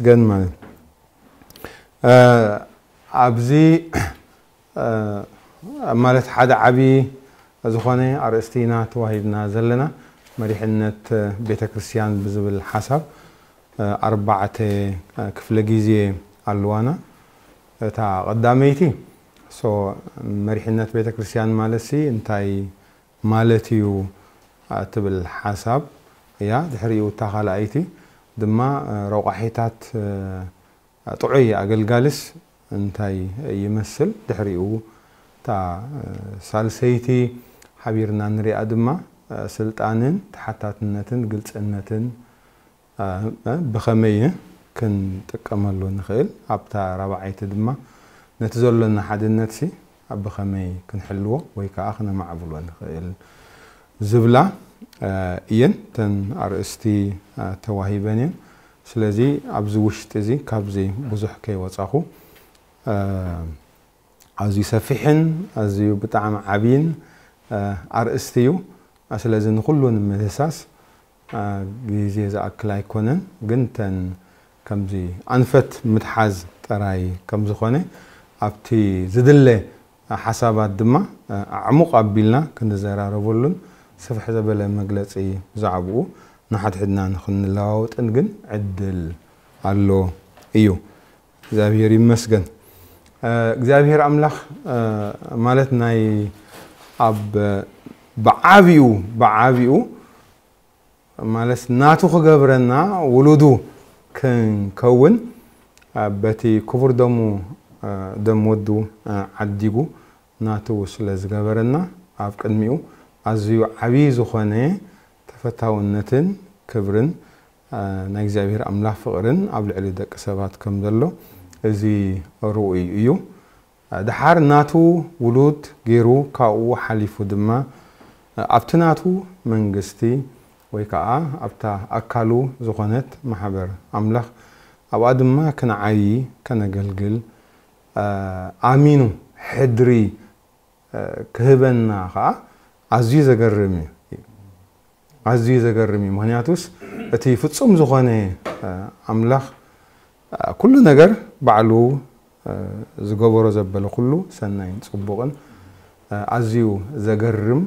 ግን ማለት ኣብዚ ማለት ሓደ ዓቢ ዝኾነ ኣርእስቲ ኢና ተዋሂብና ዘለና። መሪሕነት ቤተ ክርስቲያን ብዝብል ሓሳብ ኣርባዕተ ክፍለ ግዜ ኣለዋና። እታ ቀዳመይቲ ሶ መሪሕነት ቤተ ክርስቲያን ማለት ሲ እንታይ ማለት እዩ ትብል ሓሳብ እያ። ድሕሪኡ እታ ካልኣይቲ ድማ ረቋሒታት ጥዑይ ኣገልጋልስ እንታይ ይመስል? ድሕሪኡ እታ ሳልሰይቲ ሓቢርና ንሪኣ ድማ ስልጣንን ተሓታትነትን ግልጽነትን ብኸመይ ክንጥቀመሉ ንኽእል? ኣብታ ራብዓይቲ ድማ ነቲ ዘሎና ሓድነት ሲ ብኸመይ ክንሕልዎ ወይ ከዓ ክነማዕብሎ ንኽእል ዝብላ እየን ተን ኣርእስቲ ተዋሂበን እየን። ስለዚ ኣብዚ ውሽጢ እዚ ካብዚ ብዙሕ ከይወፃኹ ኣዝዩ ሰፊሕን ኣዝዩ ብጣዕሚ ዓብይን ኣርእስቲ እዩ። ስለዚ ንኩሉ ንምድህሳስ ግዜ ዝኣክል ኣይኮነን፣ ግን ተን ከምዚ ኣንፈት ምትሓዝ ጥራይ ከም ዝኾነ ኣብቲ ዝድለ ሓሳባት ድማ ኣዕሙቕ ኣቢልና ክንዘራረበሉን ስፍሕ ዘበለ መግለጺ ብዛዕባኡ ንሓድሕድና ንኽንለዋወጥን ግን ዕድል ኣሎ እዩ። እግዚኣብሔር ይመስገን። እግዚኣብሔር ኣምላኽ ማለት ናይ ኣብ ብዓቢኡ ብዓቢኡ ማለት ናቱ ክገብረና ውሉዱ ክንከውን በቲ ክቡር ደሙ ደም ወዱ ዓዲጉ ናቱ ስለ ዝገበረና ኣብ ቅድሚኡ ኣዝዩ ዓብዪ ዝኾነ ተፈታውነትን ክብርን ናይ እግዚኣብሔር ኣምላኽ ፍቕርን ኣብ ልዕሊ ደቂ ሰባት ከም ዘሎ እዚ ርኡይ እዩ። ድሓር ናቱ ውሉድ ገይሩ ካብኡ ሓሊፉ ድማ ኣብቲ ናቱ መንግስቲ ወይ ከዓ ኣብታ ኣካሉ ዝኾነት ማሕበር ኣምላኽ ኣብኣ ድማ ክንዓዪ ከነገልግል ኣሚኑ ሕድሪ ክህበና ከዓ ኣዝዩ ዘገርም እዩ። ኣዝዩ ዘገርም እዩ። ምክንያቱስ እቲ ፍጹም ዝኾነ ኣምላኽ ኩሉ ነገር ባዕሉ ዝገበሮ ዘበለ ኩሉ ሰናይን ጽቡቕን ኣዝዩ ዘገርም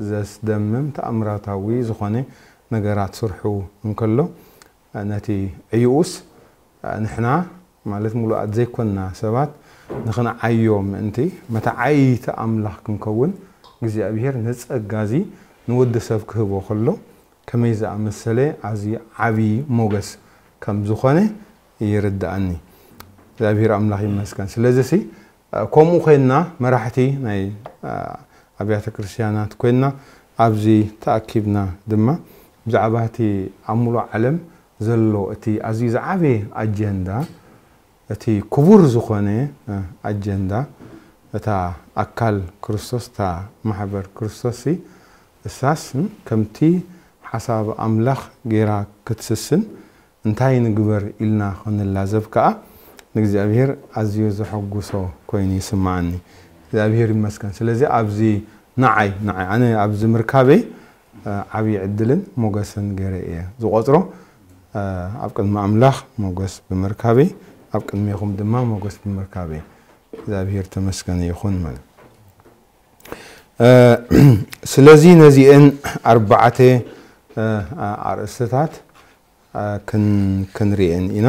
ዘስደምም ተኣምራታዊ ዝኾነ ነገራት ስርሑ እንከሎ ነቲ ዕዩኡስ ንሕና ማለት ምሉኣት ዘይኮንና ሰባት ንኽንዓዮ ምእንቲ መተዓይይቲ ኣምላኽ ክንከውን እግዚኣብሔር ነጸጋዚ ንወዲ ሰብ ክህቦ ከሎ ከመይ ዝኣመሰለ ኣዝዩ ዓብዪ ሞገስ ከም ዝኾነ ይርድኣኒ። እግዚኣብሔር ኣምላኽ ይመስገን። ስለዚ ሲ ከምኡ ኮይንና መራሕቲ ናይ ኣብያተ ክርስቲያናት ኮይንና ኣብዚ ተኣኪብና ድማ ብዛዕባ እቲ ኣብ ሙሉእ ዓለም ዘሎ እቲ ኣዝዩ ዝዓበየ ኣጀንዳ እቲ ክቡር ዝኾነ ኣጀንዳ እታ ኣካል ክርስቶስ እታ ማሕበር ክርስቶስ ሲ እሳስ ከምቲ ሓሳብ ኣምላኽ ገይራ ክትስስን እንታይ ንግበር ኢልና ክንላዘብ ከዓ ንእግዚኣብሔር ኣዝዩ ዘሐጉሶ ኮይኑ ይስምዓኒ። እግዚኣብሔር ይመስገን። ስለዚ ኣብዚ ንዓይ ንዓይ ኣነ ኣብዚ ምርካበይ ዓብዪ ዕድልን ሞገስን ገይረ እየ ዝቆፅሮ። ኣብ ቅድሚ ኣምላኽ ሞገስ ብምርካበይ ኣብ ቅድሜኹም ድማ ሞገስ ብምርካበይ እግዚኣብሔር ተመስገነ ይኹን ማለት። ስለዚ ነዚአን ኣርባዕተ ኣርእስትታት ክንርእየን ኢና።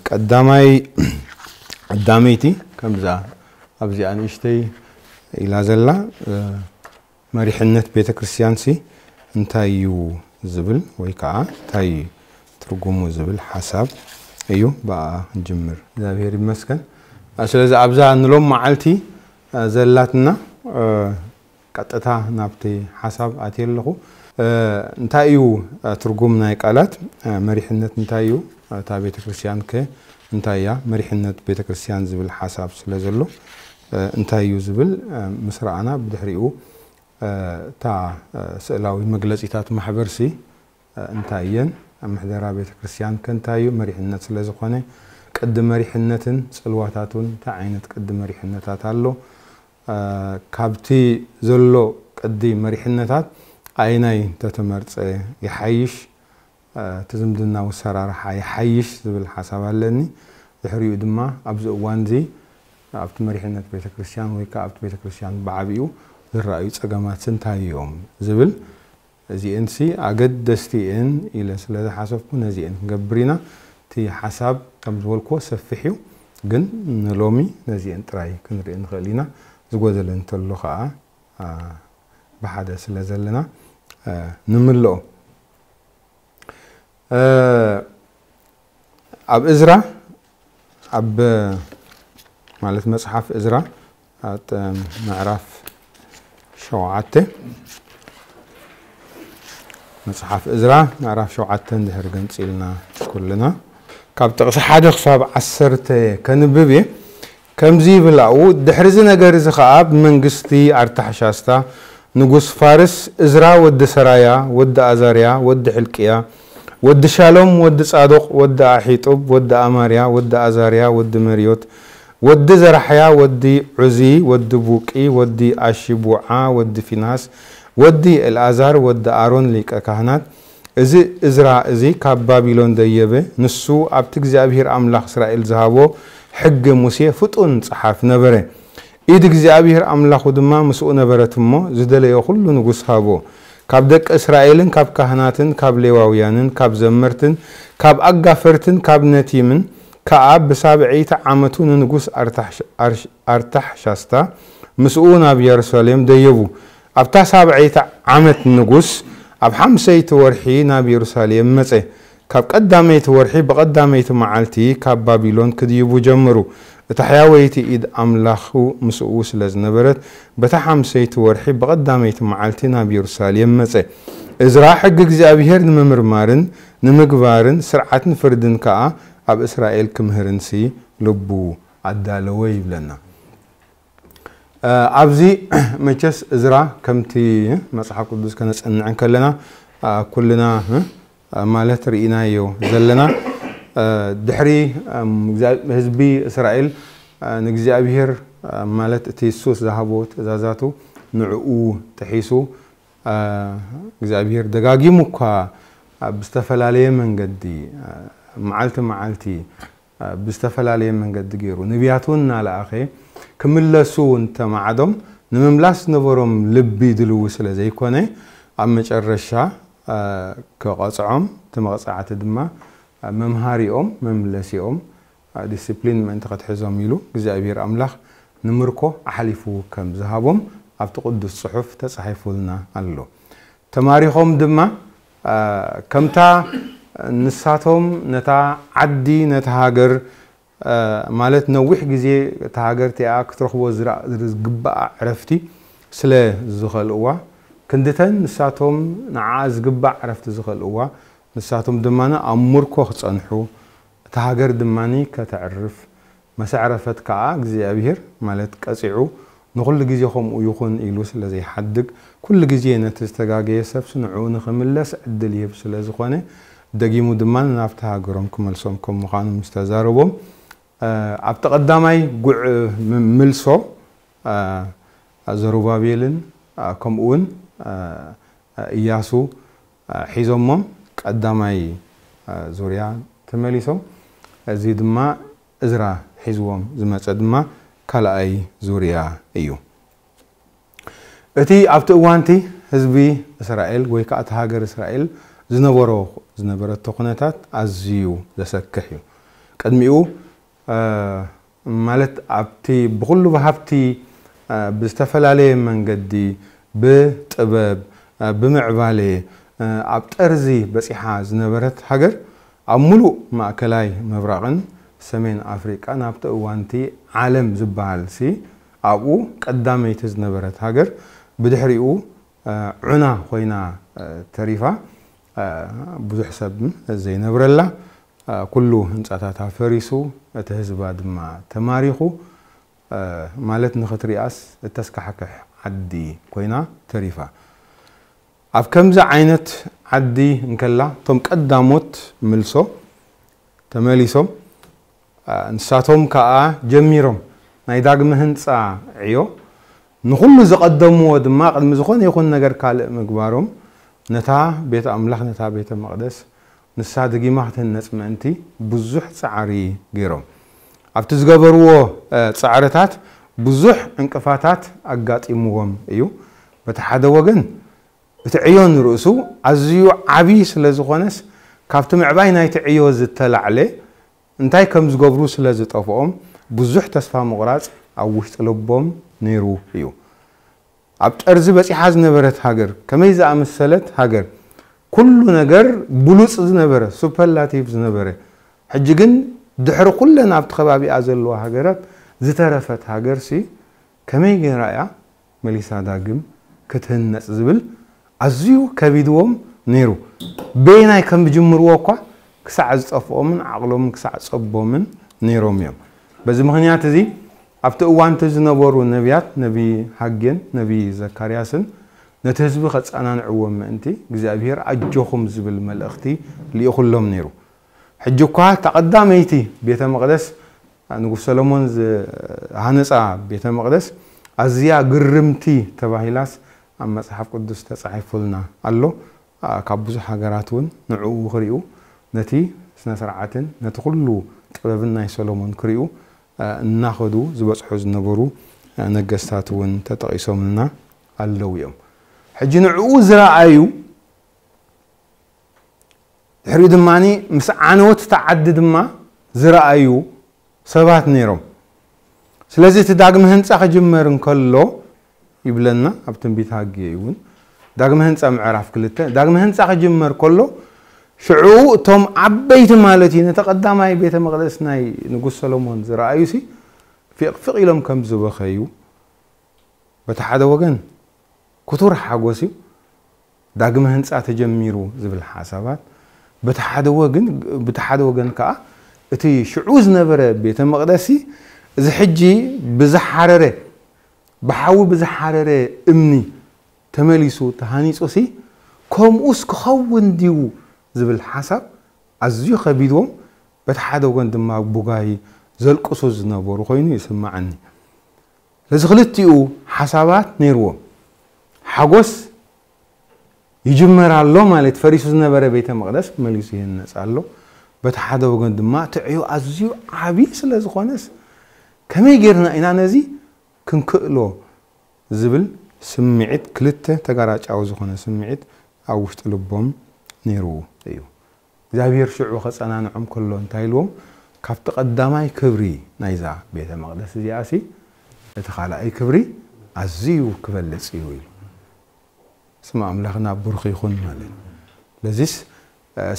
ቀዳማይ ቀዳመይቲ ከምዛ ኣብዚኣ ንእሽተይ ኢላ ዘላ መሪሕነት ቤተ ክርስቲያን ሲ እንታይ እዩ ዝብል ወይ ከዓ እንታይ እዩ ትርጉሙ ዝብል ሓሳብ እዩ ብኣ ንጅምር። እግዚኣብሔር ይመስገን። ስለዚ ኣብዛ ንሎም መዓልቲ ዘላትና ቀጥታ ናብቲ ሓሳብ ኣትየ ኣለኹ። እንታይ እዩ ትርጉም ናይ ቃላት መሪሕነት እንታይ እዩ? እታ ቤተ ክርስቲያን ከ እንታይ እያ? መሪሕነት ቤተ ክርስቲያን ዝብል ሓሳብ ስለ ዘሎ እንታይ እዩ ዝብል ምስ ረኣና ብድሕሪኡ እታ ስእላዊ መግለጺታት ማሕበርሲ እንታይ እየን? ኣብ ምሕደራ ቤተ ክርስቲያን ከ እንታይ እዩ? መሪሕነት ስለ ዝኾነ ቅዲ መሪሕነትን ጽልዋታቱን እንታይ ዓይነት ቅዲ መሪሕነታት ኣሎ? ካብቲ ዘሎ ቅዲ መሪሕነታት ኣይናይ ተተመርጸ ይሓይሽ? እቲ ዝምድናዊ ኣሰራርሓ ይሓይሽ ዝብል ሓሳብ ኣለኒ። ድሕሪኡ ድማ ኣብዚ እዋን እዚ ኣብቲ መሪሕነት ቤተክርስትያን ወይ ከዓ ኣብቲ ቤተክርስትያን ብዓቢኡ ዝረኣዩ ጸገማት እንታይ እዮም ዝብል፣ እዚኤንሲ ኣገደስቲ እየን ኢለ ስለ ዝሓሰብኩ ነዚኤን ክንገብር ኢና። እቲ ሓሳብ ከም ዝበልክዎ ሰፊሕ እዩ፣ ግን ንሎሚ ነዚኤን ጥራይ ክንርኢ ንኽእል ኢና። ዝጎደለ እንተሎ ከዓ ብሓደ ስለ ዘለና ንምልኦ። ኣብ እዝራ ኣብ ማለት መጽሓፍ እዝራ ምዕራፍ ሸውዓተ፣ መጽሓፍ እዝራ ምዕራፍ ሸውዓተ እንድሕር ገንጺልና ኩልና ካብ ጥቕሲ ሓደ ክሳብ ዓሰርተ ከንብብ እየ። ከምዚ ይብል ኣብኡ፣ ድሕሪ እዚ ነገር እዚ ኸኣ ብመንግስቲ ኣርታሕሻስታ ንጉስ ፋርስ፣ እዝራ ወዲ ሰራያ ወዲ ኣዛርያ ወዲ ሕልቅያ ወዲ ሻሎም ወዲ ጻዶቕ ወዲ ኣሒጡብ ወዲ ኣማርያ ወዲ ኣዛርያ ወዲ መርዮት ወዲ ዘራሕያ ወዲ ዑዚ ወዲ ቡቂ ወዲ ኣሺቡዓ ወዲ ፊንሃስ ወዲ ኤልኣዛር ወዲ ኣሮን ሊቀ ካህናት፣ እዚ እዝራ እዚ ካብ ባቢሎን ደየበ፣ ንሱ ኣብቲ እግዚኣብሄር ኣምላኽ እስራኤል ዝሃቦ ሕጊ ሙሴ ፍጡን ጸሓፍ ነበረ። ኢድ እግዚኣብሄር ኣምላኹ ድማ ምስኡ ነበረት እሞ፣ ዝደለዮ ኹሉ ንጉስ ሃቦ። ካብ ደቂ እስራኤልን ካብ ካህናትን ካብ ሌዋውያንን ካብ ዘመርትን ካብ ኣጋፈርትን ካብ ነቲምን ከኣ ብሳብዐይቲ ዓመቱ ንንጉስ ኣርታሕሽ-፣ ኣርሽ-፣ ኣርታሕሻስታ ምስኡ ናብ የሩሳሌም ደየቡ። ኣብታ ሳብዐይቲ ዓመት ንጉስ ኣብ ሓምሰይቲ ወርሒ ናብ የሩሳሌም መጸ። ካብ ቀዳመይቲ ወርሒ ብቐዳመይቲ መዓልቲ ካብ ባቢሎን ክድይቡ ጀመሩ። እታ ሕያወይቲ ኢድ ኣምላኹ ምስኡ ስለ ዝነበረት፣ በታ ሓምሰይቲ ወርሒ ብቐዳመይቲ መዓልቲ ናብ የሩሳሌም መጸ። እዝራ ሕጊ እግዚኣብሄር ንምምርማርን ንምግባርን ስርዓትን ፍርድን ከኣ ኣብ እስራኤል ክምህርንሲ ልቡ ኣዳለወ ይብለና። እ፣ ኣብዚ መቸስ እዝራ ከምቲ መጽሓፍ ቅዱስ ከነጽንዕ እንከለና፣ እ፣ ኩልና፣ እ፣ ማለት ርኢናዮ ዘለና፣ እ፣ ድሕሪ፣ እም፣ እግዚኣብ-፣ ህዝቢ እስራኤል፣ እ፣ ንእግዚኣብሔር፣ እ፣ ማለት እቲ የሱስ ዝሃቦ ትእዛዛቱ ንዕኡ ጥሒሱ፣ እ፣ እግዚኣብሔር ደጋጊሙ እኳ ኣብ ዝተፈላለየ መንገዲ፣ እ፣ መዓልቲ መዓልቲ ብዝተፈላለየ መንገዲ ገይሩ ነቢያት እውን እናለኣኸ ክምለሱ እንተማዕዶም ንምምላስ ዝነበሮም ልቢ ድልዊ ስለ ዘይኮነ ኣብ መጨረሻ፣ እ፣ ክቐጽዖም፣ እቲ መቕጻዕቲ ድማ መምሃሪኦም መምለሲኦም፣ እ፣ ዲስፕሊን ምእንቲ ከትሕዞም ኢሉ እግዚኣብሔር ኣምላኽ ንምርኮ ኣሕሊፉ ከም ዝሃቦም ኣብቲ ቅዱስ ጽሑፍ ተጻሒፉልና ኣሎ። ተማሪኾም ድማ፣ እ፣ ከምታ ንሳቶም ነታ ዓዲ፣ ነታ ሃገር፣ እ፣ ማለት ነዊሕ ግዜ እታ ሃገር እቲኣ ክትረኽቦ ዝራ-፣ ዝግባኣ ዕረፍቲ ስለ ዝኸልእዋ፣ ክንድተን ንሳቶም ንዓኣ ዝግባእ ዕረፍቲ ዝኸልእዋ፣ ንሳቶም ድማ ኣብ ምርኮ ክጸንሑ፣ እታ ሃገር ድማ ከተዕርፍ፣ መሰዕረፈት ከኣ እግዚኣብሔር፣ ማለት ቀጺዑ፣ ንኹሉ ግዜ ከምኡ ይኹን ኢሉ ስለ ዘይሓድግ፣ ኩሉ ግዜ ነቲ ዝተጋገየ ሰብሲ ንዕኡ ንኽምለስ ዕድል ይህብ ስለ ዝኾነ፣ ደጊሙ ድማ ናብቲ ሃገሮም ክመልሶም ከም ምዃኑ ምስ ተዛረቦም፣ እ፣ ኣብቲ ቀዳማይ ጉዕ ም-፣ ምልሶ፣ እ፣ ዘሩባቤልን፣ እ፣ ከምኡ እውን፣ እ፣ እያሱ፣ እ፣ ሒዞሞም ቀዳማይ፣ እ፣ ዙርያ ተመሊሶም። እዚ ድማ እዝራ ሒዝዎም ዝመጸ ድማ ካልኣይ ዙርያ እዩ። እቲ ኣብቲ እዋንቲ ህዝቢ እስራኤል ወይ ከኣ እቲ ሃገር እስራኤል ዝነበሮ፣ ዝነበረቶ ኩነታት ኣዝዩ ዘሰክሕ እዩ። ቅድሚኡ፣ እ፣ ማለት ኣብቲ ብኹሉ ብሃብቲ፣ እ፣ ብዝተፈላለየ መንገዲ፣ ብጥበብ፣ እ፣ ብምዕባሌ፣ እ፣ ኣብ ጠርዚ በጺሓ ዝነበረት ሃገር፣ ኣብ ምሉእ ማእከላይ ምብራቕን ሰሜን ኣፍሪቃን ኣብቲ እዋንቲ ዓለም ዝበሃልሲ ኣብኡ ቀዳመይቲ ዝነበረት ሃገር፣ ብድሕሪኡ፣ እ፣ ዑና ኮይና፣ እ፣ ተሪፋ። እ፣ ብዙሕ ሰብ ዘይነብረላ፣ እ፣ ኩሉ ህንጻታታ ፈሪሱ፣ እቲ ህዝባ ድማ ተማሪኹ፣ እ፣ ማለት ንኽትሪኣስ እተስካሕክሕ ዓዲ ኮይና ተሪፋ። ኣብ ከምዚ ዓይነት ዓዲ እንከላ፣ እቶም ቀዳሞት ምልሶ ተመሊሶም፣ እ፣ ንሳቶም ከኣ ጀሚሮም ናይ ዳግመ ህንጻ ዕዮ፣ ንኹሉ ዝቐደምዎ ድማ ቅድሚ ዝኾነ ይኹን ነገር ካልእ ምግባሮም፣ ነታ ቤት ኣምላኽ፣ ነታ ቤተ መቕደስ፣ ንሳ ደጊማ ክትህነጽ ምእንቲ ብዙሕ ጻዕሪ ገይሮም። ኣብቲ ዝገበርዎ ጻዕርታት ብዙሕ ዕንቅፋታት ኣጋጢምዎም እዩ። በቲ ሓደ ወገን እቲ ዕዮ ንርእሱ ኣዝዩ ዓቢ ስለ ዝኾነስ ካብቲ ምዕባይ ናይቲ ዕዮ ዝተላዕለ እንታይ ከም ዝገብሩ ስለ ዝጠፍኦም ብዙሕ ተስፋ ምቑራጽ ኣብ ውሽጢ ልቦም ነይሩ እዩ። ኣብ ጠርዚ በጺሓ ዝነበረት ሃገር ከመይ ዝኣመሰለት ሃገር፣ ኩሉ ነገር ብሉጽ ዝነበረ፣ ሱፐርላቲቭ ዝነበረ፣ ሕጂ ግን ድሕሪ ኩለን ኣብቲ ከባቢኣ ዘለዋ ሃገራት ዝተረፈት ሃገር ሲ ከመይ ገይራ እያ መሊሳ ዳግም ክትህነጽ ዝብል ኣዝዩ ከቢድዎም ነይሩ። በየናይ ከም ዝጅምርዎ እኳ ክሳዕ ዝጠፍኦምን ዓቕሎምን ክሳዕ ጸቦምን ነይሮም እዮም። በዚ ምኽንያት እዚ ኣብቲ እዋንቲ ዝነበሩ ነቢያት ነቢ ሃጌን ነቢ ዘካርያስን ነቲ ህዝቢ ከጸናንዕዎም ምእንቲ እግዚኣብሔር ኣጆኹም ዝብል መልእኽቲ ልኢኹሎም ነይሩ። ሕጂ እኳ እታ ቀዳመይቲ ቤተ መቕደስ ንጉስ ሰሎሞን ዝሃነጻ ቤተ መቕደስ ኣዝያ ግርምቲ ተባሂላስ ኣብ መጽሓፍ ቅዱስ ተጻሒፉልና ኣሎ። ካብ ብዙሕ ሃገራት እውን ንዕኡ ክሪኡ ነቲ ስነ ስርዓትን ነቲ ኩሉ ጥበብን ናይ ሰሎሞን ክሪኡ እናኸዱ ዝበጽሑ ዝነበሩ ነገስታት እውን ተጠቒሶምልና ኣለዉ እዮም። ሕጂ ንዕኡ ዝረኣዩ ድሕሪኡ ድማ ምስ ዓነወት እታ ዓዲ ድማ ዝረኣዩ ሰባት ነይሮም። ስለዚ እቲ ዳግመ ህንፃ ክጅመር እንከሎ ይብለና ኣብ ትንቢት ሃጌ እውን ዳግመ ህንፃ ምዕራፍ ክልተ ዳግመ ህንፃ ክጅመር ከሎ ሽዑ እቶም ዓበይቲ ማለት እዩ ነቲ ቀዳማይ ቤተ መቕደስ ናይ ንጉስ ሰሎሞን ዝረኣዩ ሲ ፊቕ ፊቕ ኢሎም ከም ዝበኸዩ በቲ ሓደ ወገን ክቱር ሓጎስ እዩ። ዳግመ ህንፃ ተጀሚሩ ዝብል ሓሳባት በቲ ሓደ ወገን በቲ ሓደ ወገን ከዓ እቲ ሽዑ ዝነበረ ቤተ መቕደሲ እዚ ሕጂ ብዝሓረረ ብሓዊ ብዝሓረረ እምኒ ተመሊሱ ተሃኒፁ ሲ ከምኡስ ክኸውን ድዩ ዝብል ሓሳብ ኣዝዩ ከቢድዎም በቲ ሓደ ወገን ድማ ቡጋይ ዘልቅሱ ዝነበሩ ኮይኑ ይስምዓኒ። ስለዚ ክልቲኡ ሓሳባት ነይርዎም። ሓጎስ ይጅመር ኣሎ ማለት ፈሪሱ ዝነበረ ቤተ መቕደስ መሊሱ ይህነጽ ኣሎ። በቲ ሓደ ወገን ድማ እቲ ዕዮ ኣዝዩ ዓቢ ስለ ዝኾነስ ከመይ ጌርና ኢና ነዚ ክንክእሎ ዝብል ስምዒት ክልተ ተጋራጫዊ ዝኾነ ስምዒት ኣብ ውሽጢ ልቦም ነይሩ እዩ። እግዚኣብሔር ሽዑ ከጸናንዖም ከሎ እንታይ ኢልዎም? ካብቲ ቀዳማይ ክብሪ ናይዛ ቤተ መቕደስ እዚኣ ሲ እቲ ካልኣይ ክብሪ ኣዝዩ ክበልጽ እዩ ኢሉ። ስም ኣምላኽና ብሩኽ ይኹን ማለት። ለዚስ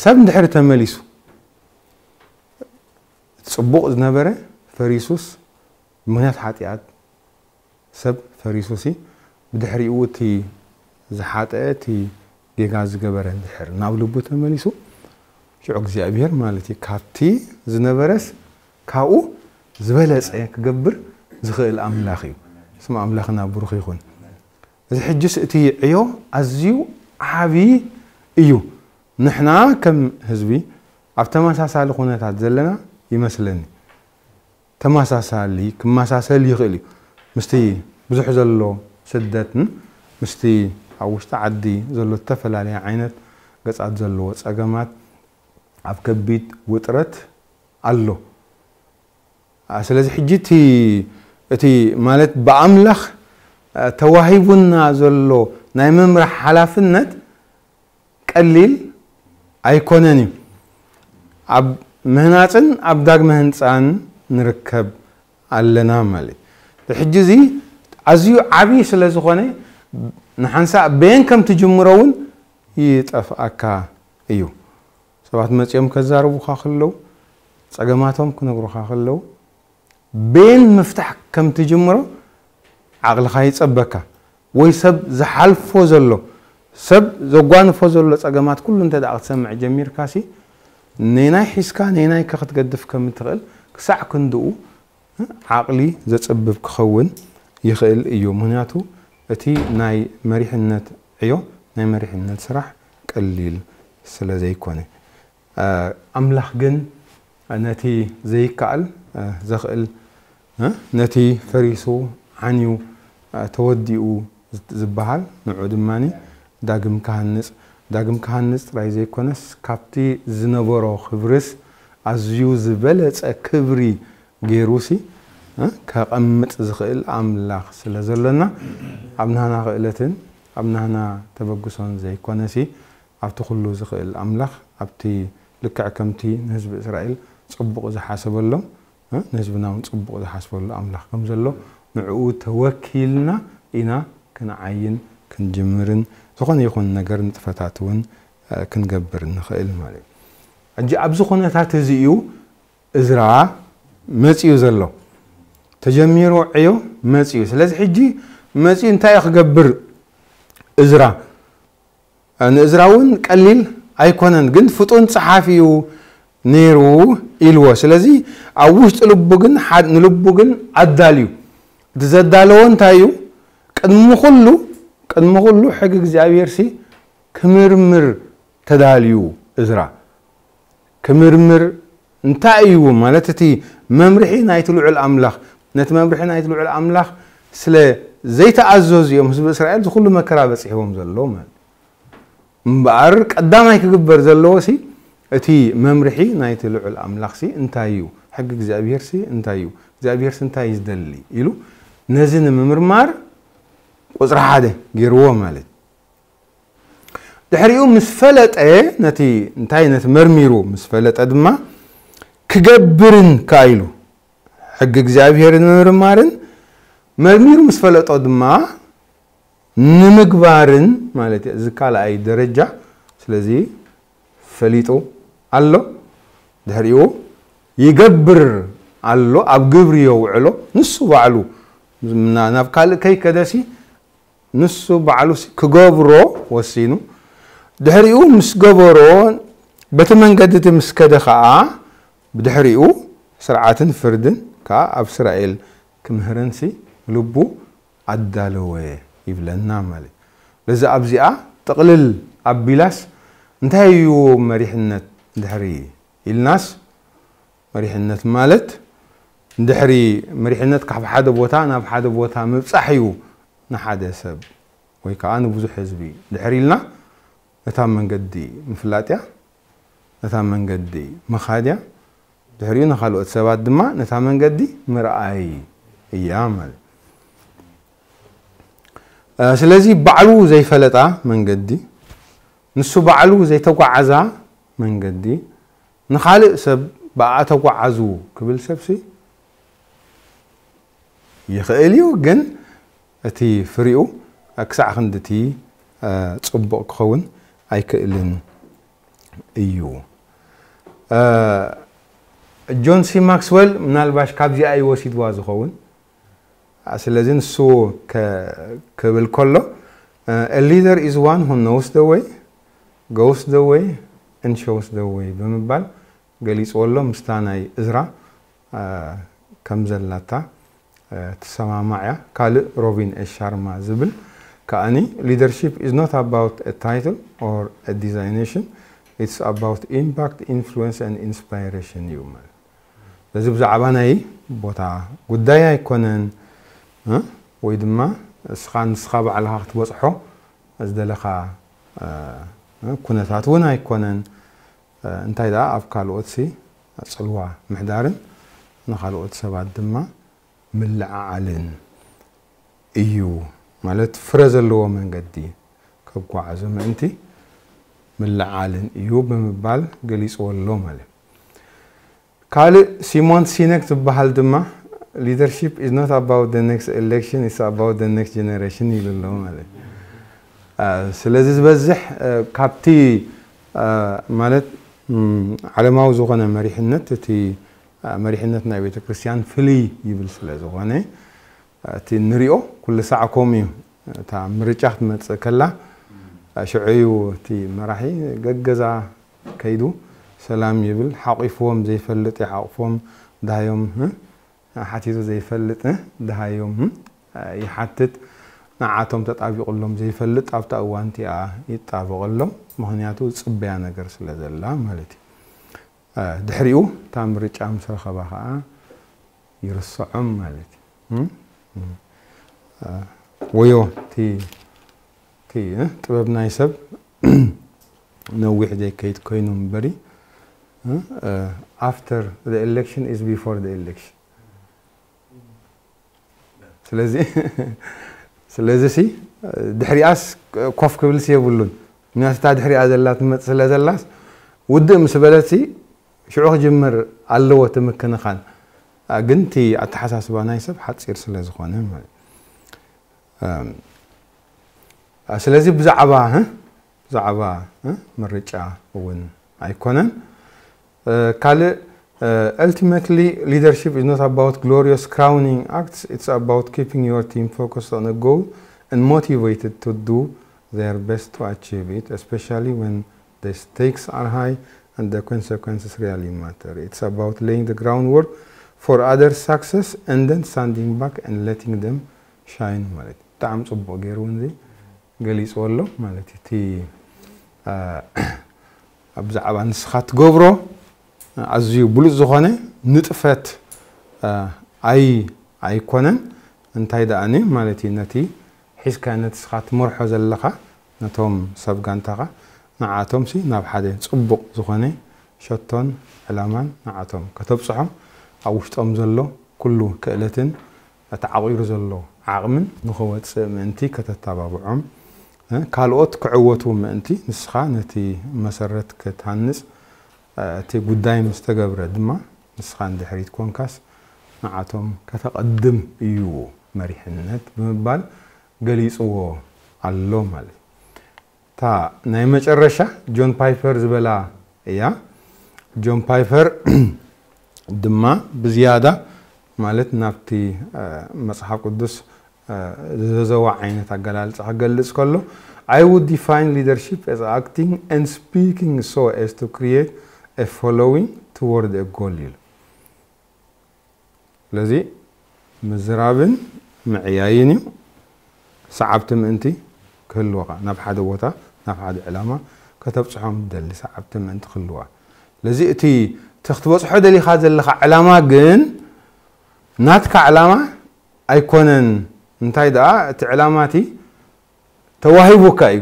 ሰብ እንድሕር ተመሊሱ ጽቡቕ ዝነበረ ፈሪሱስ ብምኽንያት ሓጢኣት ሰብ ፈሪሱ ሲ ብድሕሪኡ እቲ ዝሓጠ እቲ ጌጋ ዝገበረ እንድሕር ናብ ልቡ ተመሊሱ ሽዑ እግዚኣብሔር ማለት እዩ ካብቲ ዝነበረስ ካብኡ ዝበለጸ ክገብር ዝኽእል ኣምላኽ እዩ። ስም ኣምላኽና ብሩኽ ይኹን። እዚ ሕጅስ እቲ ዕዮ ኣዝዩ ዓቢ እዩ። ንሕና ከም ህዝቢ ኣብ ተመሳሳሊ ኩነታት ዘለና ይመስለኒ። ተመሳሳሊ ክመሳሰል ይኽእል እዩ ምስቲ ብዙሕ ዘሎ ስደትን ምስቲ ኣብ ውሽጢ ዓዲ ዘሎ ዝተፈላለየ ዓይነት ገጻት ዘለዎ ጸገማት ኣብ ከቢድ ውጥረት ኣሎ። ስለዚ ሕጂ እቲ እቲ ማለት ብኣምላኽ ተዋሂቡና ዘሎ ናይ ምምራሕ ሓላፍነት ቀሊል ኣይኮነን እዩ። ኣብ ምህናፅን ኣብ ዳግመ ህንፃን ንርከብ ኣለና ማለት እዩ። ሕጂ እዚ ኣዝዩ ዓብዪ ስለ ዝኾነ ንሓንሳእ በየን ከም ትጅምሮ እውን ይጠፍኣካ እዩ። ሰባት መፂኦም ከዛርቡኻ ከለዉ ፀገማቶም ክነግሩኻ ከለዉ በየን ምፍታሕ ከም ትጅምሮ ዓቕልኻ ይጸበካ። ወይ ሰብ ዝሓልፎ ዘሎ ሰብ ዘጓንፎ ዘሎ ጸገማት ኩሉ እንተ ደኣ ክትሰምዕ ጀሚርካ ሲ ነናይ ሒዝካ ነናይ ከ ክትገድፍ ከም ትኽእል ክሳዕ ክንድኡ ዓቕሊ ዘጸብብ ክኸውን ይኽእል እዩ። ምክንያቱ እቲ ናይ መሪሕነት ዕዮ ናይ መሪሕነት ስራሕ ቀሊል ስለ ዘይኮነ ኣምላኽ ግን ነቲ ዘይከኣል ዘኽእል ነቲ ፈሪሱ ዓንዩ ተወዲኡ ዝበሃል ንዑ ድማ ዳግም ክሃንጽ ዳግም ክሃንጽ ጥራይ ዘይኮነስ፣ ካብቲ ዝነበሮ ክብርስ ኣዝዩ ዝበለጸ ክብሪ ገይሩሲ፣ እ፣ ከቐምጥ ዝኽእል ኣምላኽ ስለ ዘሎና፣ ኣብ ናህና ክእለትን ኣብ ናህና ተበግሶን ዘይኮነሲ፣ ኣብቲ ኩሉ ዝኽእል ኣምላኽ፣ ኣብቲ ልክዕ ከምቲ ንህዝቢ እስራኤል ጽቡቕ ዝሓሰበሎም፣ እ፣ ንህዝብና እውን ጽቡቕ ዝሓስበሉ ኣምላኽ ከም ዘሎ፣ ንዕኡ ተወኪልና ኢና ክንዓይን ክንጅምርን፣ ዝኾነ ይኹን ነገር ንጥፈታት እውን፣ እ፣ ክንገብር ንኽእል ማለት እዩ። ሕጂ ኣብዚ ኩነታት እዚ እዩ እዝራ መጺኡ ዘሎ። ተጀሚሩ ዕዮ መጺኡ። ስለዚ ሕጂ መጺኡ እንታይ እዩ ክገብር እዝራ? ንእዝራ እውን ቀሊል ኣይኮነን፣ ግን ፍጡን ጸሓፊ እዩ ነይሩ ኢልዎ። ስለዚ ኣብ ውሽጢ ልቡ ግን፣ ሓድ-፣ ንልቡ ግን ኣዳልዩ። እቲ ዘዳለዎ እንታይ እዩ? ቅድሚ ኩሉ፣ ቅድሚ ኩሉ ሕጊ እግዚኣብሔር ሲ ክምርምር ተዳልዩ እዝራ። ክምርምር እንታይ እዩ ማለት፣ እቲ መምርሒ ናይቲ ልዑል ኣምላኽ፣ ነቲ መምርሒ ናይቲ ልዑል ኣምላኽ ስለ ዘይተኣዘዙ እዮም ህዝቢ እስራኤል እዚ ኩሉ መከራ በጺሕዎም ዘሎ ማለት። እምበኣር ቀዳማይ ክግበር ዘለዎ ሲ እቲ መምርሒ ናይቲ ልዑል ኣምላኽ ሲ እንታይ እዩ? ሕጊ እግዚኣብሔር ሲ እንታይ እዩ? እግዚኣብሔር ሲ እንታይ እዩ ዝደሊ? ኢሉ ነዚ ንምምርማር ቁጽሪ ሓደ ገይርዎ ማለት። ድሕሪኡ ምስ ፈለጠ፣ ነቲ እንታይ፣ ነቲ መርሚሩ ምስ ፈለጠ ድማ ክገብርን ከኣ ኢሉ፣ ሕጊ እግዚኣብሔር ንምርማርን መርሚሩ ምስ ፈለጦ ድማ ንምግባርን ማለት እዩ። እዚ ካልኣይ ደረጃ። ስለዚ ፈሊጡ ኣሎ። ድሕሪኡ ይገብር ኣሎ፣ ኣብ ግብሪ የውዕሎ። ንሱ ባዕሉ ና-፣ ናብ ካልእ ከይከደሲ ንሱ ባዕሉ ሲ ክገብሮ ወሲኑ። ድሕሪኡ ምስ ገበሮ፣ በቲ መንገዲ እቲ ምስ ከደ ኸኣ፣ ብድሕሪኡ ስርዓትን ፍርድን ከኣ ኣብ እስራኤል ክምህረንሲ ልቡ ኣዳለወ ይብለና ማለት። ለዚ ኣብዚኣ ጥቕልል ኣቢላስ እንታይ እዩ መሪሕነት ድሕሪ ኢልናስ፣ መሪሕነት ማለት ድሕሪ መሪሕነት ካብ ሓደ ቦታ ናብ ሓደ ቦታ ምብጻሕ እዩ። ንሓደ ሰብ ወይ ከዓ ንብዙሕ ህዝቢ ድሕሪ ኢልና ነታ መንገዲ ምፍላጥ እያ፣ ነታ መንገዲ ምኻድ እያ። ድሕሪኡ ንኻልኦት ሰባት ድማ ነታ መንገዲ ምርኣይ እያ ማለት። እ፣ ስለዚ ባዕሉ ዘይፈለጣ መንገዲ፣ ንሱ ባዕሉ ዘይተጓዓዛ መንገዲ፣ ንኻልእ ሰብ ብኣ ተጓዓዙ ክብል ሰብሲ ይኽእል እዩ፣ ግን እቲ ፍሪኡ ክሳዕ ክንድቲ፣ እ፣ ጽቡቕ ክኸውን ኣይክእልን እዩ። እ፣ ጆን ሲ ማክስወል ምናልባሽ ካብዚኣ እዩ ወሲድዋ ዝኸውን። ስለዚ ንሱ ከ-፣ ክብል ከሎ፣ እ፣ "A leader is one who knows the way, goes the way, and shows the way" ብምባል ገሊጽዎ ኣሎ። ምስታ ናይ እዝራ፣ እ፣ ከም ዘላታ፣ እ፣ ትሰማማዕ እያ። ካልእ ሮቢን ኤ ሻርማ ዝብል ከኣኒ፣ "Leadership is not about a title or a designation, it's about impact, influence and inspiration" እዩ ማለት። እዚ ብዛዕባ ናይ ቦታ ጉዳይ ኣይኮነን፣ እ? ወይ ድማ እስኻ ንስኻ ባዕልኻ ክትበጽሖ ዝደለኻ፣ እ፣ እ፣ ኩነታት እውን ኣይኮነን። እ፣ እንታይ ደኣ ኣብ ካልኦትሲ ጽልዋ ምሕዳርን ንኻልኦት ሰባት ድማ ምልዕዓልን እዩ። ማለት ፍረ ዘለዎ መንገዲ ከጓዓዞ ምእንቲ ምልዓልን እዩ ብምባል ገሊጽዎ ኣሎ ማለት። ካልእ ሲሞን ሲነክ ዝበሃል ድማ፣ "Leadership is not about the next election, it's about the next generation" ይብል ኣሎ ማለት። አ፣ ስለዚ ዝበዝሕ፣ አ፣ ካብቲ፣ አ፣ ማለት፣ ም፣ ዓለማዊ ዝኾነ መሪሕነት፣ እቲ፣ አ፣ መሪሕነት ናይ ቤተ ክርስቲያን ፍልይ ይብል ስለ ዝኾነ፣ እቲ ንሪኦ ኩሉ ሳዕ ከምኡ እዩ። እታ ምርጫ ክትመጽእ ከላ፣ ሽዑ እዩ እቲ መራሒ ገገዛ ከይዱ ሰላም ይብል። ሓቂፍዎም ዘይፈልጥ ይሓቕፎም፣ ደሃዮም፣ እ፣ ሓቲቱ ዘይፈልጥ፣ እ፣ ደሃዮም፣ እ፣ ይሓትት። ንዓቶም ተጣቢቑሎም ዘይፈልጥ ኣብታ እዋን እቲኣ ይጣበቐሎም። ምኽንያቱ ዝጽበያ ነገር ስለ ዘላ ማለት እዩ። እ፣ ድሕሪኡ እታ ምርጫ ምስ ረኸባ ኸኣ ይርስዖም ማለት እዩ። እም? እም። እ፣ ወዮ፣ እቲ፣ እቲ፣ እ፣ ጥበብ ናይ ሰብ ነዊሕ ዘይከይድ ኮይኑ እምበሪ after the election is before the election። ስለዚ ስለዚ ሲ ድሕሪኣስ ኮፍ ክብል ሲ የብሉን። ምክንያቱ እታ ድሕሪኣ ዘላ ትመጽእ ስለ ዘላስ ውድእ ምስ በለት ሲ ሽዑ ክጅምር ኣለዎ እቲ ምክንኻን። ግን እቲ ኣተሓሳስባ ናይ ሰብ ሓፂር ስለ ዝኾነ ማለት። ስለዚ ብዛዕባ ብዛዕባ ምርጫ እውን ኣይኮነን። ካልእ ultimately leadership is not about glorious crowning acts, it's about keeping your team focused on a goal and motivated to do their best to achieve it, especially when the stakes are high and the consequences really matter. It's about laying the groundwork for others' success and then standing back and letting them shine ማለት እዩ። ብጣዕሚ ጽቡቕ ገይሩ እውን እዚ ገሊጽዎ ኣሎ ማለት እዩ። እቲ ብዛዕባ ንስኻ ትገብሮ ኣዝዩ ብሉጽ ዝኾነ ንጥፈት ኣይ ኣይኮነን። እንታይ ደኣኒ ማለት እዩ፣ ነቲ ሒዝካ ነቲ ስኻ ትመርሖ ዘለኻ ነቶም ሰብ ጋንታኻ ንዓቶም ሲ ናብ ሓደ ጽቡቕ ዝኾነ ሸቶን ዕላማን ንዓቶም ከተብጽሖም ኣብ ውሽጦም ዘሎ ኩሉ ክእለትን ተዓቂሩ ዘሎ ዓቕምን ንኸወጽእ ምእንቲ ከተተባብዖም፣ ካልኦት ክዕወቱ ምእንቲ ንስኻ ነቲ መሰረት ክትሃንጽ፣ እቲ ጉዳይ ምስ ተገብረ ድማ ንስኻ ንድሕሪት ኮንካስ ንዓቶም ከተቐድም እዩ መሪሕነት ብምባል ገሊጽዎ ኣሎ ማለት እዩ። እታ ናይ መጨረሻ ጆን ፓይፐር ዝበላ እያ። ጆን ፓይፐር ድማ ብዝያዳ ማለት ናብቲ መጽሓፍ ቅዱስ ዘዘዋ ዓይነት ኣገላልጻ ክገልጽ ከሎ I would define leadership as acting and speaking so as to create a following toward a goal ኢሉ። ስለዚ ምዝራብን ምዕያይን እዩ። ሰዓብቲ ምእንቲ ክህልወኻ ናብ ሓደ ቦታ ናብ ሓደ ዕላማ ከተብፅሖም ደሊ ሰዓብቲ ምእንቲ ክህልዋ። ስለዚ እቲ እቲ ክትበፅሖ ደሊኻ ዘለኻ ዕላማ ግን ናትካ ዕላማ ኣይኮነን። እንታይ ደኣ እቲ ዕላማ እቲ ተዋሂቡካ እዩ።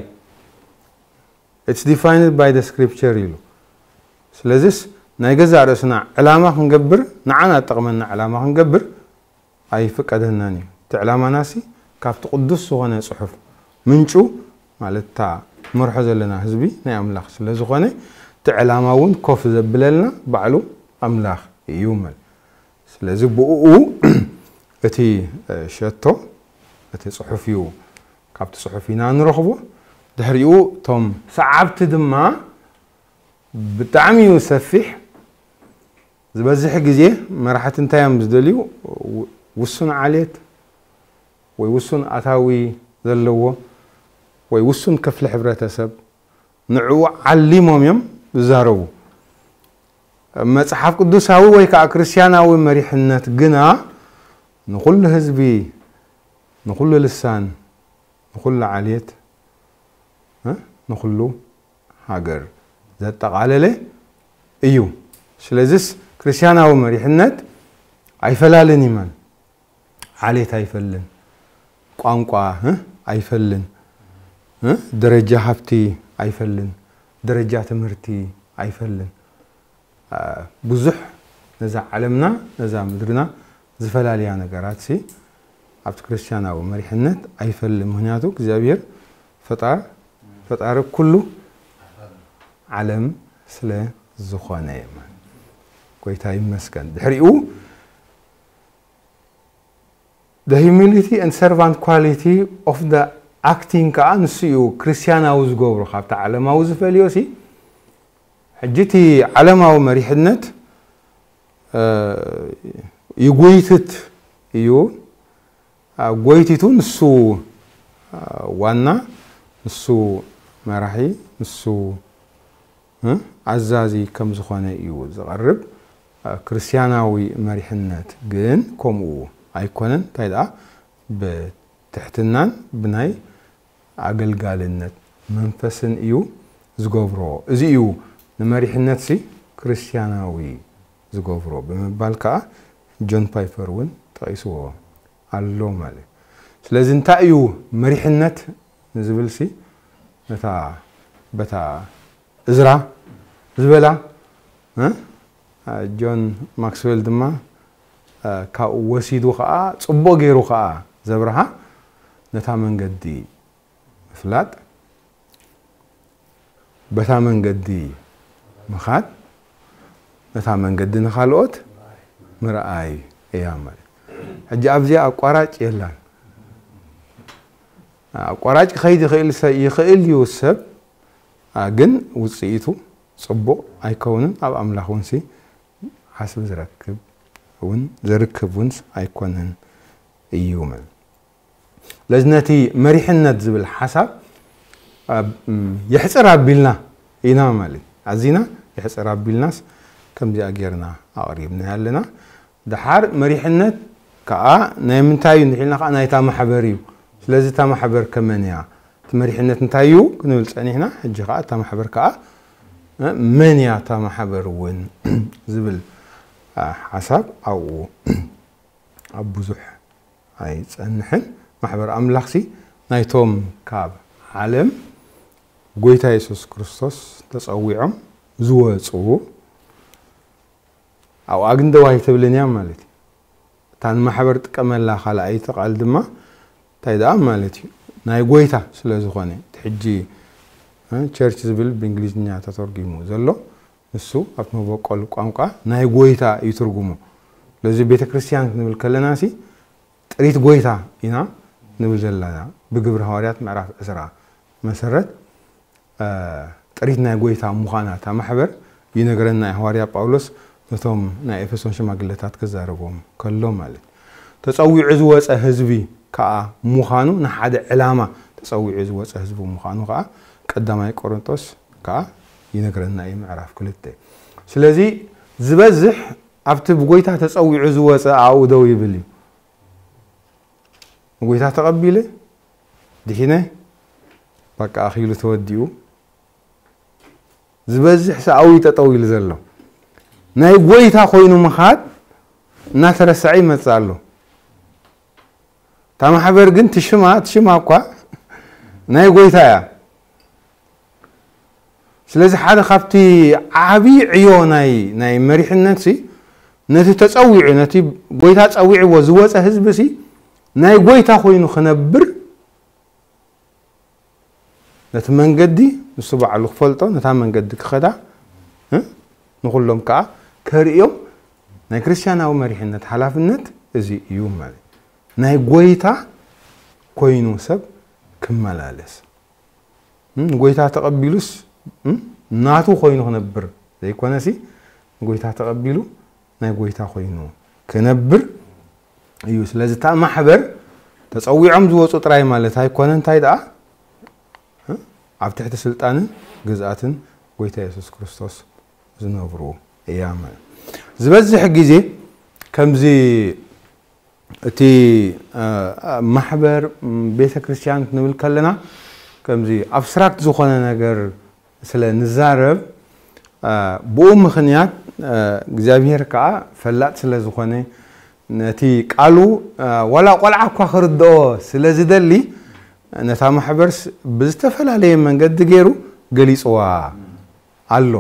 It's defined by the scripture ኢሉ። ስለዚስ ናይ ገዛእ ርእስና ዕላማ ክንገብር ንዓና ጠቕመና ዕላማ ክንገብር ኣይፍቀደናን እዩ። እቲ ዕላማናሲ ካብቲ ቅዱስ ዝኾነ ጽሑፍ ምንጩ ማለት እታ መርሖ ዘለና ህዝቢ ናይ ኣምላኽ ስለ ዝኾነ እቲ ዕላማ እውን ኮፍ ዘብለልና ባዕሉ ኣምላኽ እዩ ማለት። ስለዚ ብኡ እቲ ሸቶ እቲ ጽሑፍ እዩ፣ ካብቲ ጽሑፍ ኢና ንረኽቦ። ድሕሪኡ እቶም ሰዓብቲ ድማ ብጣዕሚ እዩ ሰፊሕ። ዝበዝሕ ግዜ መራሕቲ እንታይ እዮም ዝደልዩ? ውሱን ዓሌት ወይ ውሱን ኣታዊ ዘለዎ ወይ ውሱን ክፍሊ ሕብረተሰብ ንዕኡ ዓሊሞም እዮም ዝዛረቡ። መጽሓፍ ቅዱሳዊ ወይ ከዓ ክርስቲያናዊ መሪሕነት ግና ንኹሉ ህዝቢ፣ ንኹሉ ልሳን፣ ንኹሉ ዓሌት፣ ንኹሉ ሃገር ዘጠቓለለ እዩ። ስለዚስ ክርስቲያናዊ መሪሕነት ኣይፈላልን ይመን ዓሌት ኣይፈልን፣ ቋንቋ ኣይፈልን፣ ደረጃ ሃብቲ ኣይፈልን፣ ደረጃ ትምህርቲ ኣይፈልን። ብዙሕ ነዛ ዓለምና ነዛ ምድርና ዝፈላልያ ነገራት ሲ ኣብቲ ክርስቲያናዊ መሪሕነት ኣይፈልን። ምክንያቱ እግዚኣብሔር ፈጣር ፈጣሪ ኩሉ ዓለም ስለ ዝኾነ ጎይታ ይመስገን። ድሕሪኡ the humility and servant quality of the acting ከዓ ንሱ እዩ ክርስቲያናዊ ዝገብሮ ካብቲ ዓለማዊ ዝፈልዮ ሲ። ሕጂ እቲ ዓለማዊ መሪሕነት ይጎይትት እዩ። ጎይቲቱ ንሱ ዋና፣ ንሱ መራሒ፣ ንሱ ኣዛዚ ከም ዝኾነ እዩ ዝቐርብ። ክርስቲያናዊ መሪሕነት ግን ከምኡ ኣይኮነን። እንታይ ደኣ ብትሕትናን ብናይ ኣገልጋልነት መንፈስን እዩ ዝገብሮ። እዚ እዩ ንመሪሕነት ሲ ክርስቲያናዊ ዝገብሮ ብምባል ከዓ ጆን ፓይፐር እውን ጠቒስዎ ኣሎ ማለት እዩ። ስለዚ እንታይ እዩ መሪሕነት ንዝብል ሲ ነታ በታ እዝራ ዝበላ እ? ጆን ማክስዌል ድማ እ፣ ካብኡ ወሲዱ ኸዓ ጽቡቕ ገይሩ ኸዓ ዘብርሃ ነታ መንገዲ ምፍላጥ፣ በታ መንገዲ ምኻድ፣ ነታ መንገዲ ንኻልኦት ምርኣይ እያ ማለት። ሕጂ ኣብዚኣ ኣቋራጭ የላን። ኣቋራጭ ክኸይድ ይኽእል ሰ-፣ ይኽእል እዩ ሰብ፣ ኣ፣ ግን ውጽኢቱ ጽቡቕ ኣይከውንን፣ ኣብ ኣምላኽ እውን ሲ ሓስብ ዝረክብ እውን፣ ዘርክብ እውን ኣይኮነን እዩ ማለት። ስለዚ ነቲ መሪሕነት ዝብል ሓሳብ ኣብ-፣ ም-፣ የሕጽር ኣቢልና ኢና ማለት። ኣዚና የሕጽር ኣቢልናስ ከምዚኣ ጌርና ኣቕሪብና ኣለና። ደሓር መሪሕነት ከኣ ናይ ምንታይ እዩ እንድሒልና ከኣ ናይታ ማሕበር እዩ። ስለዚ እታ ማሕበር ከመን እያ? እቲ መሪሕነት እንታይ እዩ ክንብል ጸኒሕና፣ ሕጂ ከኣ እታ ማሕበር ከኣ፣ እ፣ መን እያ እታ ማሕበር እውን ዝብል፣ እ፣ ሓሳብ ኣብኡ ኣብ ብዙሕ ኣይጸንሕን። ማሕበር ኣምላኽሲ ናይቶም ካብ ዓለም ጎይታ የሱስ ክርስቶስ ተጸዊዖም ዝወጹ፣ ኣብኣ ግን ደው ኣይትብልን እያ ማለት እዩ። እታ ንማሕበር ጥቀመላ ካልኣይቲ ቃል ድማ እንታይ ደኣ ማለት እዩ? ናይ ጎይታ ስለ ዝኾነ፣ እቲ ሕጂ፣ እ፣ ቸርች ዝብል ብእንግሊዝኛ ተተርጒሙ ዘሎ፣ ንሱ ኣብቲ መበቆል ቋንቋ ናይ ጎይታ እዩ ትርጉሙ። ስለዚ ቤተ ክርስቲያን ክንብል ከለና ሲ ጥሪት ጎይታ ኢና ንብል ዘለና። ብግብሪ ሃዋርያት ምዕራፍ ዕስራ መሰረት፣ እ፣ ጥሪት ናይ ጎይታ ምዃና እታ ማሕበር ይነግረና እዩ ሃዋርያ ጳውሎስ ነቶም ናይ ኤፌሶን ሽማግለታት ክዛረቦም ከሎ ማለት እዩ። ተጸዊዑ ዝወጸ ህዝቢ ከኣ ምዃኑ፣ ንሓደ ዕላማ ተጸዊዑ ዝወጸ ህዝቢ ምዃኑ ከኣ ቀዳማይ ቆሮንቶስ ከኣ ይነግረና እዩ ምዕራፍ ክልተ። ስለዚ ዝበዝሕ ኣብቲ ብጎይታ ተጸዊዑ ዝወጸ ኣብኡ ደው ይብል እዩ። ንጎይታ ተቐቢለ፣ ድሒነ፣ በቃ ኣኺሉ ተወዲኡ። ዝበዝሕ ሰኣዊ ጠጠው ኢሉ ዘሎ። ናይ ጎይታ ኮይኑ ምኻድ እናተረሰዐ ይመጽእ ኣሎ። እታ ማሕበር ግን ትሽማ፣ ትሽማ እኳ ናይ ጎይታ እያ። ስለዚ ሓደ ካብቲ ዓቢ ዕዮ ናይ፣ ናይ መሪሕነት ሲ፣ ነቲ ተጸዊዑ፣ ነቲ ጎይታ ጸዊዕዎ ዝወጸ ህዝቢ ሲ፣ ናይ ጎይታ ኮይኑ ክነብር፣ ነቲ መንገዲ ንሱ ባዕሉ ክፈልጦ፣ ነታ መንገዲ ክኸዳ፣ እ? ንኹሎም ከኣ ከርእዮም ናይ ክርስትያናዊ መሪሕነት ሓላፍነት እዚ እዩ ማለት። ናይ ጎይታ ኮይኑ ሰብ ክመላለስ። እ? ንጎይታ ተቐቢሉስ፣ እ? ናቱ ኮይኑ ክነብር ዘይኮነሲ፣ ንጎይታ ተቐቢሉ ናይ ጎይታ ኮይኑ ክነብር እዩ። ስለዚ እታ ማሕበር ተጸዊዖም ዝወጹ ጥራይ ማለት ኣይኮነን። እንታይ ደኣ? እ? ኣብ ትሕቲ ስልጣንን ግዝኣትን ጎይታ የሱስ ክርስቶስ ዝነብሩ እያ ማለት። ዝበዝሕ ግዜ ከምዚ እቲ፣ እ፣ ማሕበር፣ ም፣ ቤተ ክርስቲያን ክንብል ከለና ከምዚ ኣብስትራክት ዝኾነ ነገር ስለ ንዛረብ፣ እ፣ ብኡ ምኽንያት፣ እ፣ እግዚኣብሔር ከኣ ፈላጥ ስለ ዝኾነ ነቲ ቃሉ፣ እ፣ ዋላ ቆልዓ እኳ ክርድኦ ስለ ዝደሊ ነታ ማሕበርስ ብዝተፈላለየ መንገዲ ገይሩ ገሊጽዋ ኣሎ።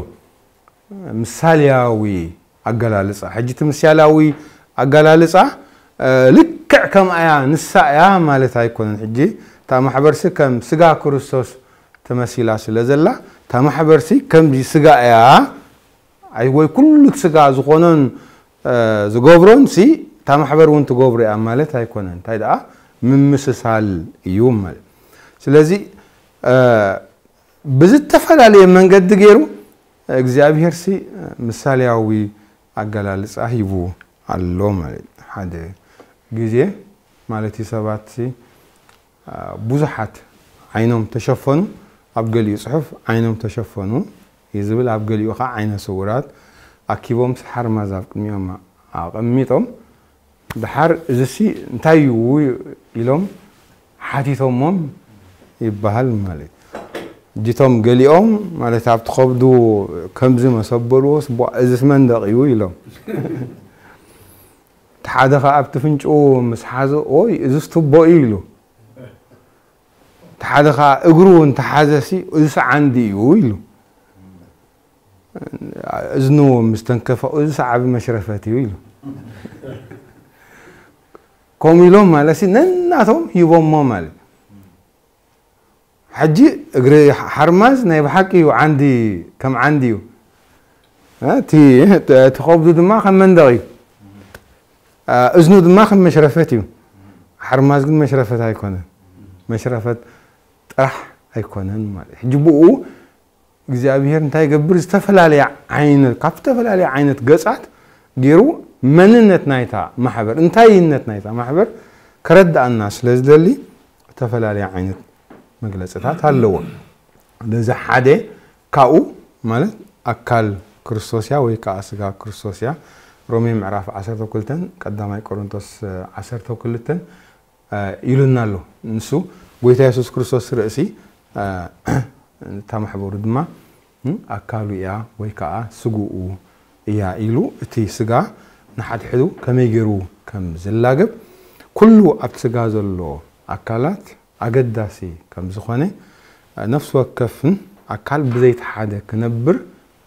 ምሳልያዊ ኣገላልጻ። ሕጂ እቲ ምሳልያዊ ኣገላልጻ፣ እ፣ ልክዕ ከምኣ እያ፣ ንሳ እያ ማለት ኣይኮነን። ሕጂ እታ ማሕበርሲ ከም ስጋ ክርስቶስ ተመሲላ ስለ ዘላ፣ እታ ማሕበርሲ ከምዚ ስጋ እያ፣ ኣይ፣ ወይ ኩሉ እቲ ስጋ ዝኾኖን፣ እ፣ ዝገብሮን ሲ፣ እታ ማሕበር እውን ትገብሮ እያ ማለት ኣይኮነን። እንታይ ደኣ? ምምስሳል እዩ ማለት። ስለዚ፣ እ፣ ብዝተፈላለየ መንገዲ ገይሩ እግዚኣብሔር ሲ ምሳልያዊ ኣገላልጻ ሂቡ ኣሎ ማለት እዩ። ሓደ ግዜ ማለት እዩ ሰባት ሲ፣ አ፣ ብዙሓት ዓይኖም ተሸፈኑ፣ ኣብ ገሊኡ ጽሑፍ ዓይኖም ተሸፈኑ እዩ ዝብል፣ ኣብ ገሊኡ ኸዓ ዓይነ ስውራት ኣኪቦም ሲ ሓርማዝ ኣብ ቅድሚኦም ኣቐሚጦም፣ ደሓር እዚሲ እንታይ እዩ ኢሎም ሓቲቶሞም ይበሃል ማለት እዩ። እጅቶም ገሊኦም ማለት ኣብቲ ከብዱ ከምዚ መሰበርዎስ፣ "ቧ፣ እዚስ መንደቕ እዩ?" ኢሎም። እቲ ሓደ ኸኣ ኣብቲ ፍንጭኡ ምስ ሓዞ፣ "ኦይ፣ እዚስ ቱቦ እዩ?" ኢሉ። እቲ ሓደ ኸኣ እግሩ እንተሓዘሲ፣ "እዚስ ዓንዲ እዩ?" ኢሉ። እዝኑ ምስ ተንከፈ፣ እዚ ሰዓቢ መሽረፈት እዩ ኢሉ። ከምኡ ኢሎም ማለት ሲ ነናቶም ሂቦሞ ማለት። ሕጂ እግሪ ሓርማዝ ናይ ብሓቂ እዩ፣ ዓንዲ ከም ዓንዲ እዩ። እ፣ እቲ እቲ ከብዱ ድማ ከም መንደቕ እዩ። እ፣ እዝኑ ድማ ከም መሽረፈት እዩ። ሓርማዝ ግን መሽረፈት ኣይኮነን። መሽረፈት ጥራሕ ኣይኮነን ማለት። ሕጂ ብኡ እግዚኣብሔር እንታይ ይገብር? ዝተፈላለየ ዓይነት፣ ካብ ዝተፈላለየ ዓይነት ገጻት ገይሩ መንነት ናይታ ማሕበር፣ እንታይነት ናይታ ማሕበር ከረድኣና ስለ ዝደሊ ዝተፈላለየ ዓይነት መግለጽታት ኣለዎ። ለዚ ሓደ ካብኡ ማለት ኣካል ክርስቶስ እያ ወይ ከዓ ስጋ ክርስቶስ እያ። ሮሜ ምዕራፍ ዓሰርተ ክልተን ቀዳማይ ቆሮንቶስ ዓሰርተ ክልተን እ፣ ኢሉና ኣሎ። ንሱ ጎይታ የሱስ ክርስቶስ ርእሲ፣ እ፣ እታ ማሕበሩ ድማ፣ እ፣ ኣካሉ እያ ወይ ከዓ ስግኡ እያ ኢሉ እቲ ስጋ ንሓድሕዱ ከመይ ገይሩ ከም ዝላገብ ኩሉ ኣብቲ ስጋ ዘሎ ኣካላት ኣገዳሲ ከም ዝኾነ፣ እ፣ ነፍሲ ወከፍን ኣካል ብዘይቲ ሓደ ክነብር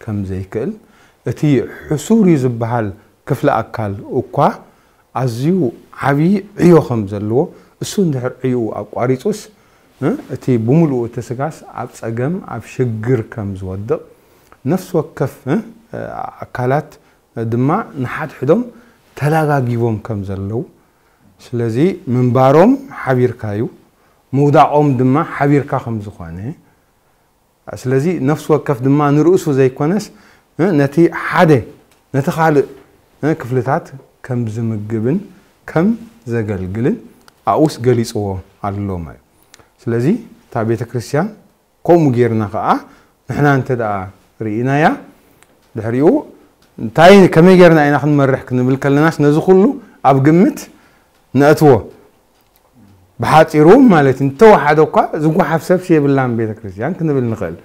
ከም ዘይክእል፣ እቲ ሕሱር እዩ ዝበሃል ክፍለ ኣካል እኳ ኣዝዩ ዓብዪ ዕዮ ከም ዘለዎ፣ እሱ እንድሕር ዕዮኡ ኣቋሪጹስ፣ እ፣ እቲ ብምሉኡ እቲ ስጋስ ኣብ ጸገም፣ ኣብ ሽግር ከም ዝወድቕ፣ ነፍሲ ወከፍ፣ እ፣ ኣካላት ድማ ንሓድሕዶም ተላጋጊቦም ከም ዘለዉ፣ ስለዚ ምንባሮም ሓቢርካ እዩ፣ ምውዳቖም ድማ ሓቢርካ ከም ዝኾነ፣ ስለዚ ነፍሲ ወከፍ ድማ ንርእሱ ዘይኮነስ፣ እ፣ ነቲ ሓደ፣ ነቲ ካልእ፣ እ፣ ክፍልታት ከም ዝምግብን ከም ዘገልግልን ኣብኡስ ገሊጽዎ ኣሎ ማለት እዩ። ስለዚ እታ ቤተ ክርስቲያን ከምኡ ጌርና ኸዓ ንሕና እንተ ደኣ ርኢናያ፣ ድሕሪኡ እንታይ፣ ከመይ ጌርና ኢና ክንመርሕ ክንብል ከለናስ ነዚ ኩሉ ኣብ ግምት ነእትዎ። ብሓጺሩ ማለት እንተወሓደ እኳ ዝጓሓፍ ሰብሲ የብላን ቤተ ክርስቲያን ክንብል ንኽእል።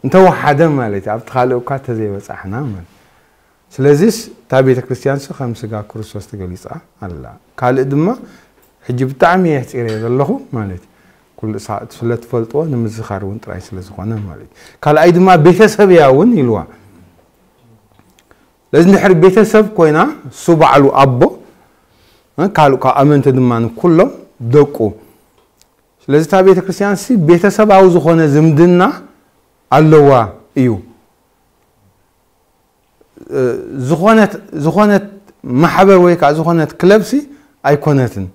እንተወሓደ ማለት እዩ፣ ኣብቲ ካልእ እኳ እንተዘይበጻሕና ማለት። ስለዚስ እታ ቤተ ክርስቲያንሲ ከም ስጋ ክርስቶስ ተገሊጻ ኣላ። ካልእ ድማ ሕጂ ብጣዕሚ እየ ኣሕጺረዮ ዘለኹ ማለት እዩ። ኩሉ ሰዓት ስለ ትፈልጥዎ ንምዝኻር እውን ጥራይ ስለ ዝኾነ ማለት እዩ። ካልኣይ ድማ ቤተሰብ እያ እውን ኢልዋ። ስለዚ እንድሕር ቤተሰብ ኮይና እሱ ባዕሉ ኣቦ፣ እ፣ ካልእ ካብ ኣመንቲ ድማ ንኩሎም ደቁ። ስለዚ እታ ቤተ ክርስቲያን ሲ ቤተሰባዊ ዝኾነ ዝምድና ኣለዋ እዩ። እ፣ ዝኾነት፣ ዝኾነት ማሕበር ወይ ከዓ ዝኾነት ክለብ ሲ ኣይኮነትን።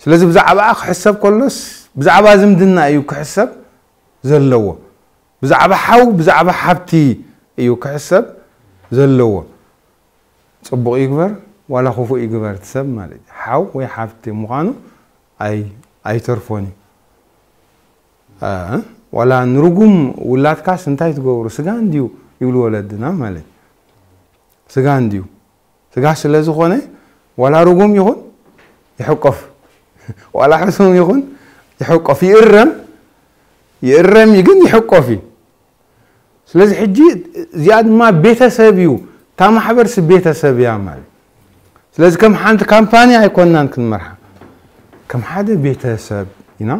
ስለዚ ብዛዕባኣ ክሕሰብ ከሎስ ብዛዕባ ዝምድና እዩ ክሕሰብ ዘለዎ። ብዛዕባ ሓው፣ ብዛዕባ ሓብቲ እዩ ክሕሰብ ዘለዎ። ጽቡቕ ይግበር ዋላ ክፉእ ይግበር እቲ ሰብ ማለት እዩ። ሓው ወይ ሓብቲ ምዃኑ ኣይ-፣ ኣይተርፎን እዩ። እ፣ ዋላ ንርጉም ውላድካስ እንታይ ትገብሩ? ስጋ እንድዩ ይብሉ ወለድና ማለት እዩ። ስጋ እንድዩ። ስጋ ስለ ዝኾነ ዋላ ርጉም ይኹን ይሕቆፍ፣ ዋላ ሕሱም ይኹን ይሕቆፍ፣ ይእረም፣ ይእረም እዩ ግን ይሕቆፍ እዩ። ስለዚ ሕጂ እዚኣ ድማ ቤተሰብ እዩ፣ እታ ማሕበርሲ ቤተሰብ እያ ማለት። ስለዚ ከም ሓንቲ ካምፓኒ ኣይኮንናን ክንመርሓ፣ ከም ሓደ ቤተሰብ ኢና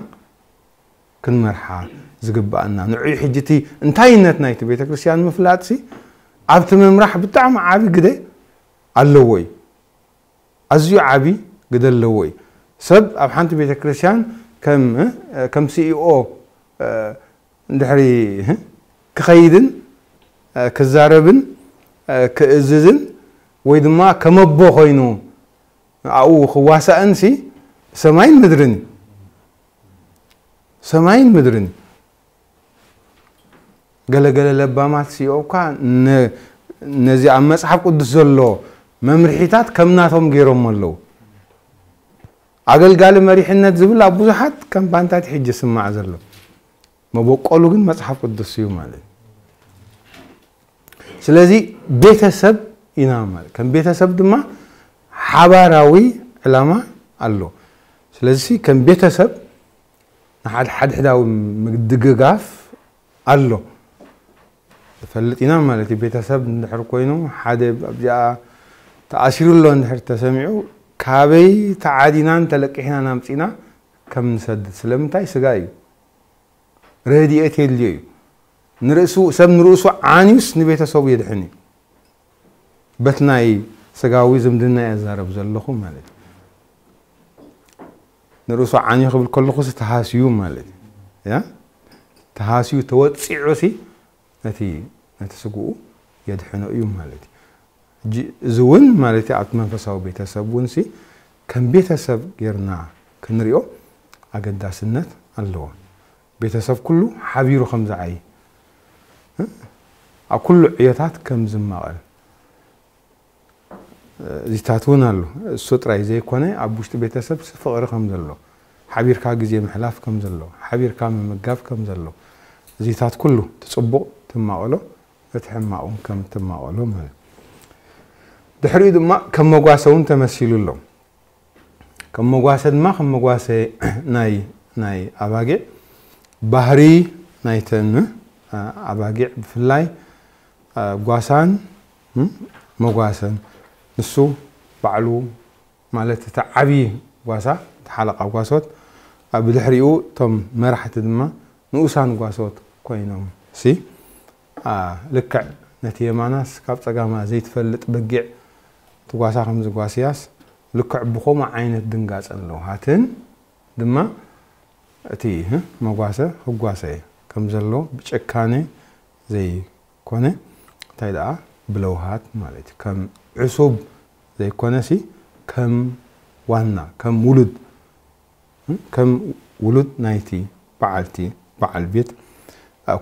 ክንመርሓ ዝግባኣና። ንዑይ ሕጂ እቲ እንታይነት ናይቲ ቤተክርስትያን ምፍላጥሲ ኣብቲ ምምራሕ ብጣዕሚ ዓቢ ግደ ኣለዎ እዩ። ኣዝዩ ዓቢ ግደ ኣለዎ እዩ። ሰብ ኣብ ሓንቲ ቤተክርስትያን ከም፣ እ፣ ከም ሲኢኦ፣ እ፣ እንድሕሪ፣ እ፣ ክኸይድን፣ እ፣ ክዛረብን፣ እ፣ ክእዝዝን ወይ ድማ ከም ኣቦ ኮይኑ ኣብኡ ክዋሳእንሲ ሰማይን ምድርን እዩ። ሰማይን ምድርን እዩ። ገለገለ ለባማት ሲኦካ ነ-፣ ነዚ ኣብ መጽሓፍ ቅዱስ ዘሎ መምርሒታት ከም ናቶም ገይሮም ኣለዉ። ኣገልጋሊ መሪሕነት ዝብል ኣብ ብዙሓት ካምፓንታት ሕጂ ይስማዕ ዘሎ። መበቆሉ ግን መጽሓፍ ቅዱስ እዩ ማለት እዩ። ስለዚ ቤተሰብ ኢና ማለት። ከም ቤተሰብ ድማ ሓባራዊ ዕላማ ኣሎ። ስለዚ ከም ቤተሰብ ንሓድ-፣ ሓድሕዳዊ ምግድግጋፍ ኣሎ። ንፈልጥ ኢና ማለት እዩ። ቤተሰብ እንድሕር ኮይኑ ሓደ ኣብዚኣ ተኣሲሩ ኣሎ እንድሕር ተሰሚዑ ካበይ ተዓዲናን ተለቂሕናን ኣምጺና ከም ንሰድድ። ስለምንታይ? ስጋ እዩ። ረድኤት የድልዮ እዩ። ንርእሱ ሰብ ንርእሱ ዓንዩስ ንቤተሰቡ የድሕን እዩ። በት ናይ ስጋዊ ዝምድና እየ ዝዛረብ ዘለኹ ማለት እዩ። ንርእሱ ዓንዩ ክብል ከለኹ ሲ ተሃስዩ ማለት እዩ። ያ ተሃስዩ ተወጺዑ ሲ ነቲ ነቲ ስግኡ የድሕኖ እዩ ማለት እዩ። ሕጂ እዚ እውን ማለት እዩ ኣብቲ መንፈሳዊ ቤተሰብ እውን ሲ ከም ቤተሰብ ጌርና ክንሪኦ ኣገዳስነት ኣለዎ። ቤተሰብ ኩሉ ሓቢሩ ከም ዝዓይ ኣብ ኩሉ ዕዮታት ከም ዝማቐል እዚታት እውን ኣሎ። እሱ ጥራይ ዘይኮነ ኣብ ውሽጢ ቤተሰብ ፍቕሪ ከም ዘሎ፣ ሓቢርካ ግዜ ምሕላፍ ከም ዘሎ፣ ሓቢርካ ምምጋብ ከም ዘሎ፣ እዚታት ኩሉ ትጽቡቕ ትማቐሎ፣ እቲ ሕማቕ እውን ከም ትማቐሎ ማለት። ድሕሪኡ ድማ ከም መጓሰ እውን ተመሲሉ ኣሎ። ከም መጓሰ ድማ ከም መጓሰ ናይ ናይ ኣባጊዕ ባህሪ ናይተን ኣባጊዕ ብፍላይ ጓሳን መጓሰን ንሱ ባዕሉ ማለት እቲ ዓብዪ ጓሳ እቲ ሓለቓ ጓሶት ብድሕሪኡ እቶም መራሕቲ ድማ ንኡሳን ጓሶት ኮይኖም ሲ ልክዕ ነቲ የማናስ ካብ ጸጋማ ዘይትፈልጥ በጊዕ ትጓሳ ከም ዝጓስያስ ልክዕ ብኸምኡ ዓይነት ድንጋጸ ኣለዎ። ሃትን ድማ እቲ መጓሰ ክጓሰ ከም ዘሎ ብጭካኔ ዘይኮነ እንታይ ደኣ ብለውሃት ማለት እዩ። ከም ዕሱብ ዘይኮነሲ ከም ዋና ከም ውሉድ ከም ውሉድ ናይቲ በዓልቲ በዓል ቤት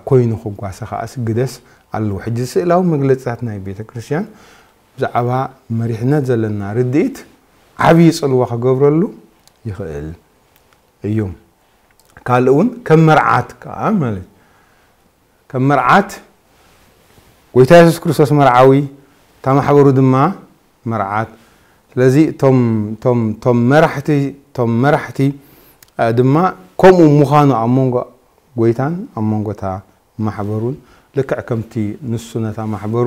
ኮይኑ ክጓሰ ከኣስ ግደስ ኣለዎ። ሕጂ ስእላዊ መግለጽታት ናይ ቤተ ክርስቲያን ብዛዕባ መሪሕነት ዘለና ርድኢት ዓብዪ ጽልዋ ክገብረሉ ይኽእል እዩ። ካልእ እውን ከም መርዓት ከኣ ማለት ከም መርዓት ጎይታ የሱስ ክርስቶስ መርዓዊ እታ ማሕበሩ ድማ መርዓት። ስለዚ እቶም እቶም እቶም መራሕቲ እቶም መራሕቲ ድማ ከምኡ ምዃኑ ኣብ መንጎ ጎይታን ኣብ መንጎ እታ ማሕበሩን ልክዕ ከምቲ ንሱ ነታ ማሕበሩ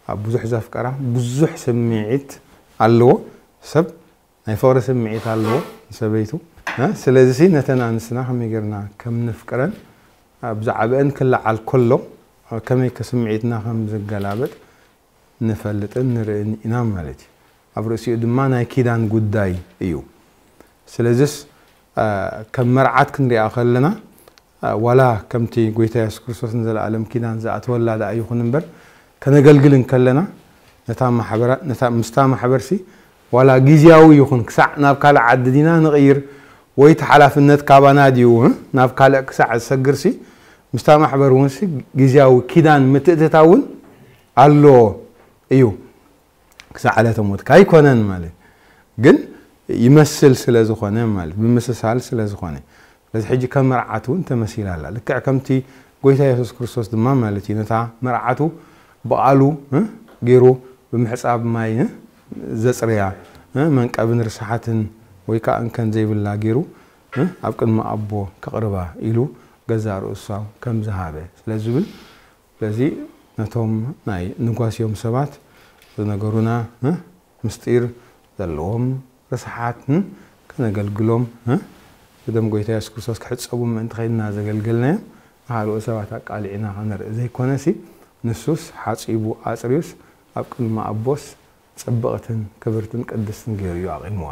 ኣብ ብዙሕ ዘፍቀራ ብዙሕ ስምዒት ኣለዎ ሰብ ናይ ፍቕሪ ስምዒት ኣለዎ ንሰበይቱ። ስለዚ ነተን ኣንስትና ከመይ ጌርና ከም ንፍቅረን ብዛዕባአን ክለዓል ከሎ ከመይ ከስምዒትና ከም ዝገላበጥ ንፈልጥን ንርእን ኢና ማለት እዩ። ኣብ ርእሲኡ ድማ ናይ ኪዳን ጉዳይ እዩ። ስለዚስ ከም መርዓት ክንሪኣ ከለና ዋላ ከምቲ ጎይታ የሱስ ክርስቶስ ንዘለኣለም ኪዳን ዝኣተወላ ደኣ ይኹን እምበር ከነገልግል እንከለና ነታ ማሕበራ ነታ ምስታ ማሕበርሲ ዋላ ግዝያዊ ይኹን ክሳዕ ናብ ካልእ ዓዲ ዲና ንቕይር ወይ እቲ ሓላፍነት ካባና ድዩ ናብ ካልእ ክሳዕ ዝሰግርሲ ምስታ ማሕበር እውንሲ ግዝያዊ ኪዳን ምትእትታውን ኣሎ እዩ። ክሳዕ ዕለተ ሞትካ ኣይኮነን ማለት ግን ይመስል ስለ ዝኾነ ማለት ብምስሳል ስለ ዝኾነ ስለዚ ሕጂ ከም መርዓት እውን ተመሲላ ኣላ። ልክዕ ከምቲ ጎይታ የሱስ ክርስቶስ ድማ ማለት እዩ ነታ መርዓቱ ብቓሉ ገይሩ ብምሕፃብ ማይ ዘፅርያ መንቀብን ርስሓትን ወይ ከዓ እንከን ዘይብላ ገይሩ ኣብ ቅድሚ ኣቦ ከቕርባ ኢሉ ገዛ ርእሱ ከም ዝሃበ ስለ ዝብል ስለዚ ነቶም ናይ ንጓስዮም ሰባት ዝነገሩና ምስጢር ዘለዎም ርስሓት ከነገልግሎም ብደም ጎይታ የሱስ ክርስቶስ ክሕፀቡ ምእንቲ ከይድና ዘገልገልናዮም ንካልኦት ሰባት ኣቃሊዕና ከነርኢ ዘይኮነሲ ንሱስ ሓፂቡ ኣፅርዩስ ኣብ ቅድሚ ኣቦስ ፅብቕትን ክብርትን ቅድስትን ገይሩ እዩ ኣቒምዋ።